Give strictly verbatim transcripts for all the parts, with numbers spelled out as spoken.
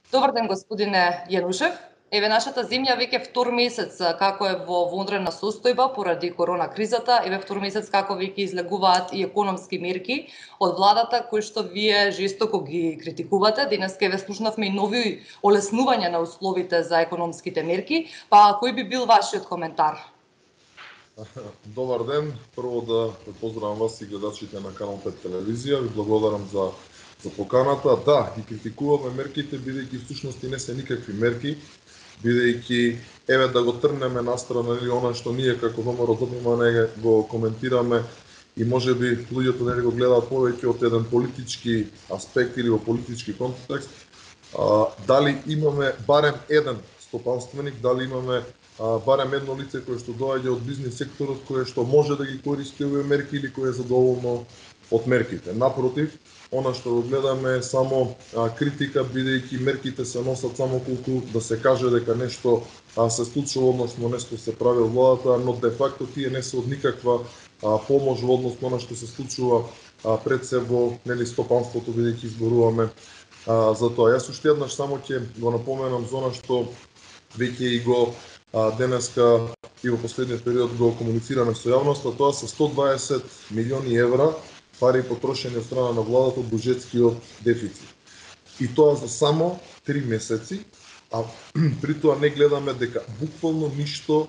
Добар ден, господине Јанушев. Еве, нашата земја веќе втор месец како е во вонредна состојба поради корона кризата, еве втор месец како веќе излегуваат и економски мерки од владата кои што вие жестоко ги критикувате. Денеска еве слушнавме и нови олеснувања на условите за економските мерки, па кој би бил вашиот коментар? Добар ден, прво да поздравам вас и гледачите на Канал пет телевизија, ви благодарам за за поканата. Да, ги критикуваме мерките, бидејќи всушност не се никакви мерки, бидејќи еве да го трнеме настрана или она што ние како ВМРО ДПМН не го коментираме и можеби луѓето не го гледаат повеќе од еден политички аспект или во политички контекст. А, дали имаме барем еден стопанственик, дали имаме а, барем едно лице кое што доаѓа од бизнис секторот, кое што може да ги користи овие мерки или кое е задоволно од мерките. Напротив, она што го гледаме е само а, критика, бидејќи мерките се носат само колку да се каже дека нешто а, се случува, односно нешто се прави од владата, но де факто тие не се од никаква а, помош во однос на она што се случува а, пред се во нели стопанството, бидејќи изборуваме а, за тоа. Јас уште еднаш само ќе го напоменам за она што веќе и го а, денеска и во последниот период го комуницираме со јавноста, тоа се сто дваесет милиони евра пари потрошени од страна на владата од буџетскиот дефицит. И тоа за само три месеци, а при тоа не гледаме дека буквално ништо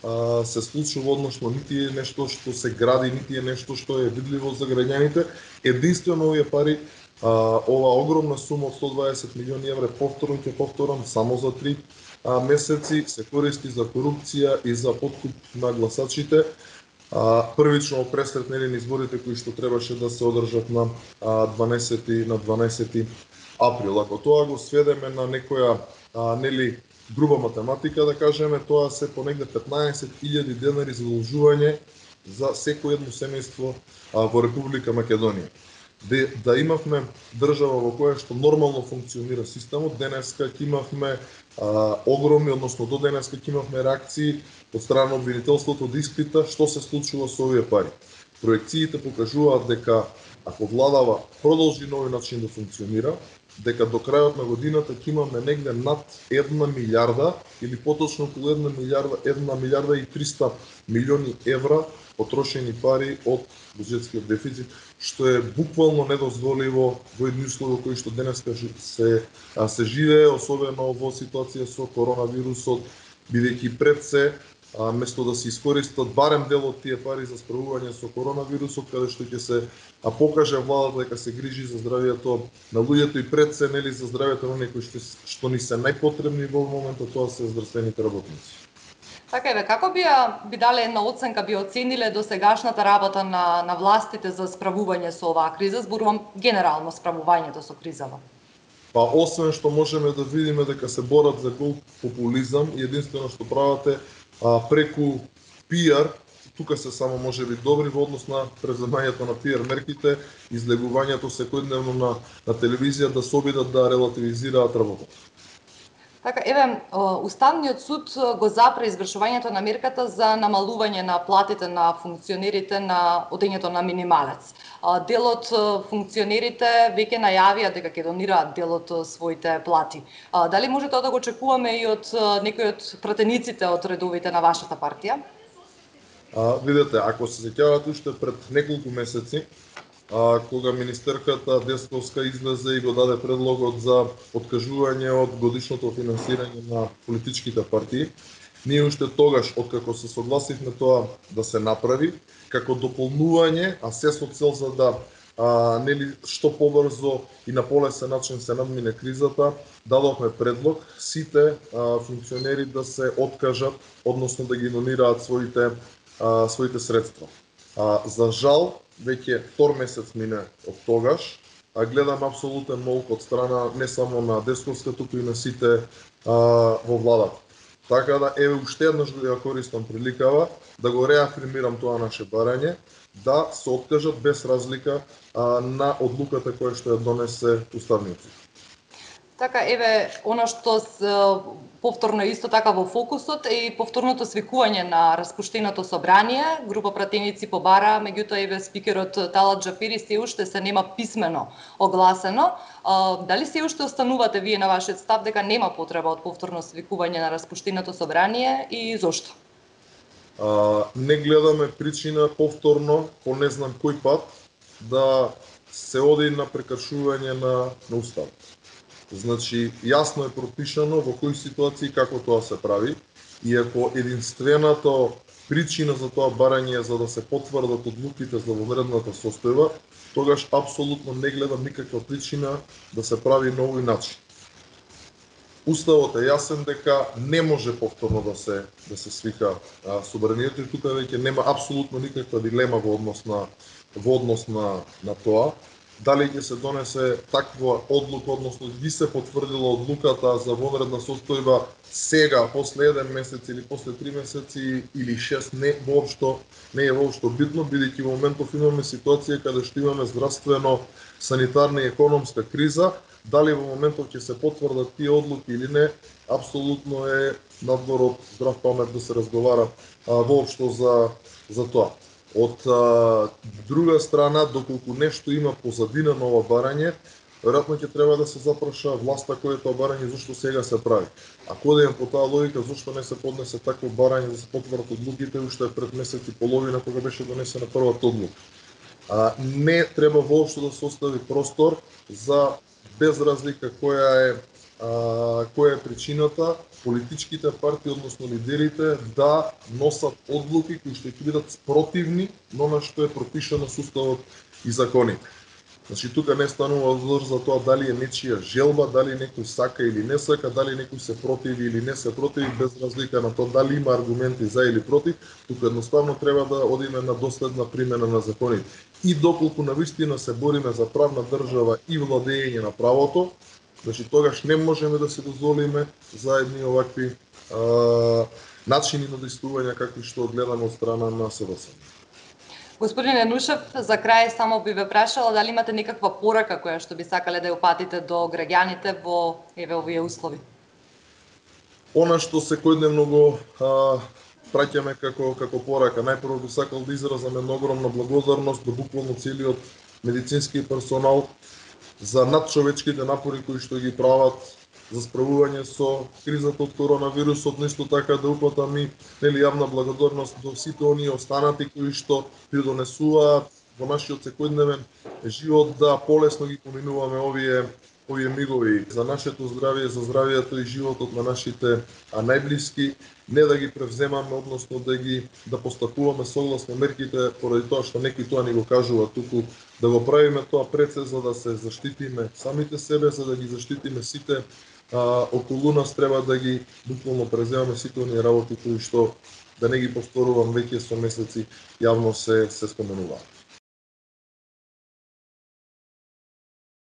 а, се случува, односно нити е нешто што се гради, нити е нешто што е видливо за граѓаните. Единствено овие пари, а, ова огромна сума од сто дваесет милиони евра, повторно ќе повторам, само за три а, месеци се користи за корупција и за подкуп на гласачите. А, првично пресред нели изборите кои што требаше да се одржат на а, дванаесети на дванаесети април. Ако тоа го сведеме на некоја а, нели груба математика, да кажеме, тоа се по негде петнаесет илјади денари задолжување за секој едно семејство а, во Република Македонија. Де, да имавме држава во која што нормално функционира системот, денеска ќе имавме а, огромни, односно до денеска ќе имавме реакции од страна на обвинителството да испита што се случува со овие пари. Проекциите покажуваат дека ако владава продолжи на овој начин да функционира, дека до крајот на годината ќе имаме негде над една милиарда или поточно околу една милиарда, една милиарда и триста милиони евра потрошени пари од буџетскиот дефицит, што е буквално недозволиво во едни услови кои што денеска се се живее, особено во ситуација со коронавирусот, бидејќи пред се а, место да се искористат барем дел од тие пари за справување со коронавирусот, каде што ќе се а покаже владата дека се грижи за здравјето на луѓето и пред се нели за здравјето на некои што, што ни се најпотребни во моментот, тоа се здравствените работници. Така еве, како би би дале една оценка, би оцениле досегашната работа на на властите за справување со оваа криза, зборувам генерално справувањето со кризава? Па освен што можеме да видиме дека се борат за гол популизам и единствено што прават е а, преку пиар, тука се само можеби добри во однос на преземањето на пиар мерките, излегувањето секојдневно на на телевизија да се обидат да релативизираат работата. Така, еве, Уставниот суд го запре извршувањето на мерката за намалување на платите на функционерите на одењето на минималец. Дел од функционерите веќе најавија дека ќе донираат дел од своите плати. Дали може тоа да го очекуваме и од некои од пратениците од редовите на вашата партија? А, видете, ако се сеќавате уште пред неколку месеци, а, кога министерката Десковска излезе и го даде предлогот за откажување од годишното финансирање на политичките партии, ние уште тогаш, откако се согласивме тоа да се направи, како дополнување, а се со цел за да а, нели што побрзо и на полесен начин се надмине кризата, дадовме предлог сите а, функционери да се откажат, односно да ги донираат своите а, своите средства. А, за жал, веќе втор месец мине од тогаш, а гледам апсолутен молк од страна не само на Десковска, туку и на сите а, во владата. Така да, еве, уште еднаш го ја користам приликава да го реафирмирам тоа наше барање, да се откажат без разлика а, на одлуката која што ја донесе Уставниот суд. Така, еве, она што с, повторно исто така во фокусот е и повторното свикување на распуштеното собрание. Група пратеници побара, меѓутоа еве спикерот Талат Џафери се уште се нема писмено огласено. А, дали се уште останувате вие на вашиот став дека нема потреба од повторно свикување на распуштеното собрание и зошто? А, не гледаме причина повторно, по не знам кој пат, да се оди на прекршување на, на уставот. Значи, јасно е пропишано во кои ситуации како тоа се прави, и ако единствената причина за тоа барање е за да се потврдат одлуките за вонредната состојба, тогаш апсолутно не гледам никаква причина да се прави на овој начин. Уставот е јасен дека не може повторно да се да се свика а, собранието, и тука веќе нема апсолутно никаква дилема во однос на во однос на на тоа. Дали ќе се донесе таква одлука, односно би се потврдила одлуката за вонредна состојба сега, после еден месец или после три месеци или шест, не воопшто не е воопшто битно, бидејќи во моментов имаме ситуација каде што имаме здравствено, санитарна и економска криза. Дали во моментов ќе се потврдат тие одлуки или не, апсолутно е надвор од здрав памет да се разговара а, воопшто за за тоа. Од а, друга страна, доколку нешто има позадина на ова барање, веројатно ќе треба да се запраша власта која е тоа барање зашто сега се прави. Ако одеме по таа логика, зашто не се поднесе такво барање да се потврдат одлуките уште пред месец и половина кога беше донесена првата одлука. А, не треба воопшто да се остави простор за, без разлика која е а, која е причината, политичките партии, односно лидерите, да носат одлуки кои што ќе бидат спротивни на она што е пропишано со уставот и законите. Значи, тука не станува збор за тоа дали е нечија желба, дали некој сака или не сака, дали некој се противи или не се противи, без разлика на тоа дали има аргументи за или против. Тука едноставно треба да одиме на доследна примена на законите. И доколку навистина се бориме за правна држава и владење на правото, значи тогаш не можеме да се дозволиме за едни овакви а, начини на действување какви што гледаме од страна на СДС. Господин Енушев, за крај само би ве прашала дали имате некаква порака која што би сакале да ја упатите до граѓаните во еве овие услови. Она што секојдневно го а, праќаме како како порака, најпрво би сакал да изразам една огромна благодарност до буквално целиот медицински персонал за надчовечките напори кои што ги прават за справување со кризата од коронавирусот, но исто така да упатам и нели јавна благодарност до сите оние останати кои што придонесуваат во нашиот секојдневен живот да полесно ги поминуваме овие овие мигови за нашето здравје, за здравјето и животот на нашите а, најблиски, не да ги превземаме, односно да ги да постапуваме согласно мерките, поради тоа што некои тоа ни го кажува, туку да го правиме тоа пред се за да се заштитиме самите себе, за да ги заштитиме сите а, околу нас, треба да ги буквално преземаме сите оние работи кои што, да не ги повторувам, веќе со месеци јавно се се споменуваат.